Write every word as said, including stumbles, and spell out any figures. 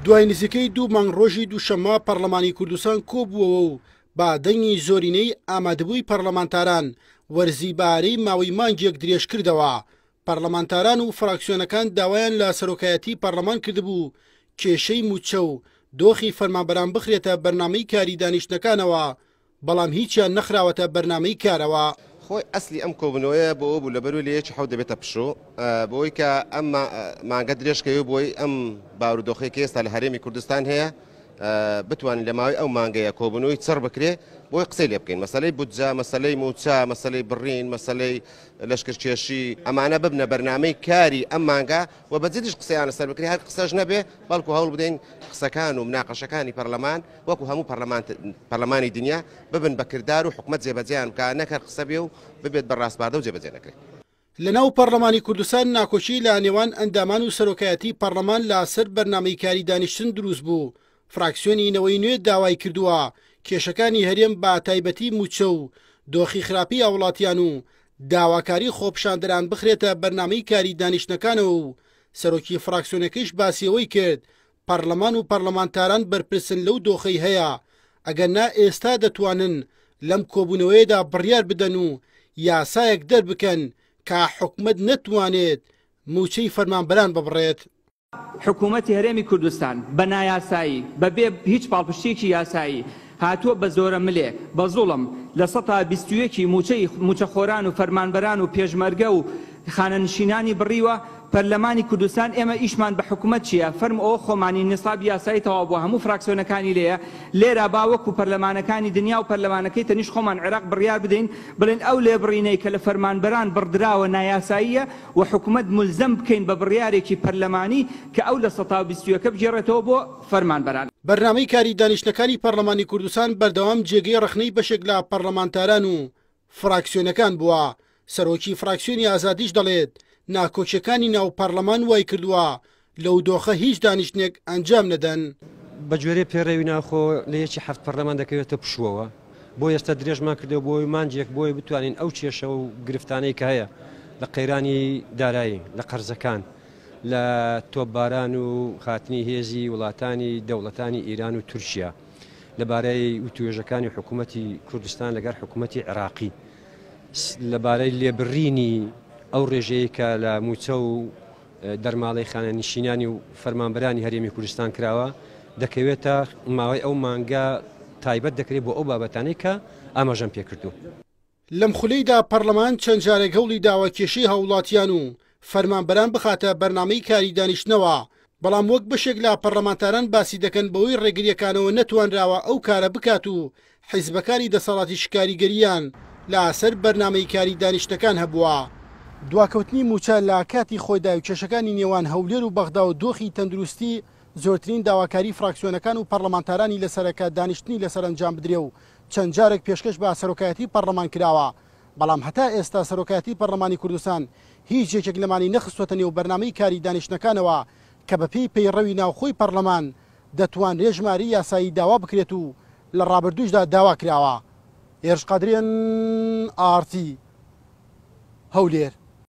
دوای نزیکەی دوو مانگ ڕۆژی دووشەممە پەرلەمانی کوردستان کۆبووەوە و با دەنگی زۆرینەی ئامادەبووی پەرلەمانتاران وەرزی بارەی ماوەی مانگێک درێژ کردەوە. پەرلەمانتاران و فراکسیۆنەکان داوایان لە سەرۆکایەتی پەرلەمان کردبوو کێشەی مووچە و دۆخی فەرمانبەران بخرێتە بەرنامەی کاری دانیشتنەکانەوە، بەڵام هیچیان نەخراوەتە بەرنامەی کارەوە. خۆی ئەسلی ئەم کۆبوونەوەیە بۆ ئەوە بوو لەبەروی لە یەکی حەوت دەبێتە پشوو، بۆی کە ئەم مانگە درێژکەوێ بۆی ئەم بارودۆخەی کە ئێستا لە هەرێمی کوردستان هەیە بتوانین لە ماوەی ئەو مانگەیە کۆبوونەوەی چڕ بکرێ بۆی قسەی لێ بکەین. مەسەلەی بودجە، مەسەلەی موچە، مەسەلەی بڕین، مەسەلەی لەشکرکێشی، ئەمانە ببنە بەرنامەی کاری ئەم مانگە و بەجدیش قسەیان لەسەر بکرێ، هەر قسەش نەبێ بەڵکو هەوڵ بدەین قسەکان و مناقەشەکانی پەرلەمان وەکو هەموو پەرلەمانی دنیا ببن بە کردار و حکومەت جێبەجێیان بکە، نەک هەر قسە بێ و ببێت بە ڕاسپاردە و جێبەجێ نەکرێت. لەناو پەرلەمانی کوردستان ناکۆکی لە نێوان ئەندامان و سەرۆکایەتی پەرلەمان لەسەر بەرنامەی کاری دانیشتن دروست بوو. فراکسیۆنی نەوەی نوێ داوای کردووە کێشەکانی هەرێم بە تایبەتی موچە و دۆخی خراپی هاوڵاتیان و داواکاری خۆپیشاندەران بخرێتە بەرنامەی کاری دانیشتنەکانەوە و سەرۆکی فراکسیۆنەکەیش باسیەوەی کرد پەرلەمان و پەرلەمانتاران بەرپرسن لەو دۆخەی هەیە، ئەگەر نا ئێستا دەتوانن لەم کۆبوونەوەیەدا بڕیار بدەن و یاسایەک دەربکەن کە حکومەت نەتوانێت موچەی فەرمانبەران ببڕێت. حکوومەتی هەرێمی کوردستان بە نایاسایی بەبێ هیچ پاڵپشتێکی یاسایی هاتووە بە زۆرە ملێ بە زوڵم لە سەتا بیست و یەکی موچەی موچەخۆران و فەرمانبەران و پێشمەرگە و خانەنشینانی بڕیوە. پەرلەمانی کوردستان ئێمە ئیشمان بە حکوومەت چییە؟ فەرم ئەوە خۆمانی نساب یاسایی تەواو بووە، هەموو فراکسیۆنەکانی لێیە. لێرە با وەکو پەرلەمانەکانی دنیا و پەرلەمانەکەی تەنیش خۆمان عێراق بڕیار بدەین بڵێن ئەو لێبڕینەی کە لە فەرمانبەران بڕدراوە نایاساییە و حکوومەت ملزەم بکەین بە بڕیارێکی پەرلەمانی کە ئەو لە سەتا بیست و یەکە بگێڕێتەوە بۆ فەرمانبەران. بەرنامەی کاری دانیشتنەکانی پەرلەمانی کوردستان بەردەوام جێگەی ڕەخنەی بەشێک لە پەرلەمانتاران و فراکسیۆنەکان بووە. سەرۆکی فراکسیۆنی ئازادیش دەڵێت ناکۆکیەکانی ناو پەرلەمان وای کردووە لەو دۆخە هیچ دانیشتنێک ئەنجام نەدەن. بە گوێرەی پێڕەوی ناخۆ لە یەکی حەفت پەرلەمان دەکەوێتە پشووەوە، بۆ ئێستا درێژمان کردەوە بۆی مانجێک بۆی بتوانین ئەو کێشە و گرفتانەی کە هەیە لە قەیرانی دارایی، لە قەرزەکان، لە تۆپباران و خاتنی هێزی وڵاتانی دەوڵەتانی ئیران و تورکیا، لەبارەی وتوێژەکانی حکوومەتی کوردستان لەگەڵ حکوومەتی عێراقی، لەبارەی لێبڕینی ئەو ڕێژەیە کە لە موچە و دەرماڵەی خانەنشینانی و فەرمانبەرانی هەرێمی کوردستان کراوە، دەکەوێتە ماوەی ئەو مانگە تایبەت دەکرێت بۆ ئەو بابەتانەی کە ئاماژەم پێکردو. لەم خولەیدا پەرلەمان چەند جارێک هەوڵی داوە کێشەی هاوڵاتیان و فەرمانبەران بخاتە بەرنامەی کاری دانیشتنەوە، بەڵام وەک بەشێک لە پەرلەمانتاران باسی دەکەن بەوەی ڕێگریەکانەوە نەتوانراوە ئەو کارە بکات و حیزبەکانی دەسەڵاتی شکاریگەریان لەسەر بەرنامەی کاری دانیشتەکان هەبووە. دواکەوتنی موچە لە کاتی خۆیدا و کێشەکانی نێوان هەولێر و بەغدا و دۆخی تەندروستی زۆرترین داواکاری فراکسیۆنەکان و پەرلەمانتارانی لەسەرەکە دانیشتنی لەسەر ئەنجام بدرێ و چەند جارێک پێشکەش بە سەرۆکایەتی پەرلەمان کراوە، بەڵام هەتا ئێستا سەرۆکایەتی پەرلەمانی کوردستان هیچ یەکێک لەمانی نەخستوەتە نێو بەرنامەی کاری دانیشتنەکانەوە کە بەپێی پەیڕەوی ناوخۆی پەرلەمان دەتوانرێ ژمارەی یاسایی داوا بکرێت و لە ڕابردووشدا داوا کراوە. هێرش قادریان، ئارتی، هەولێر.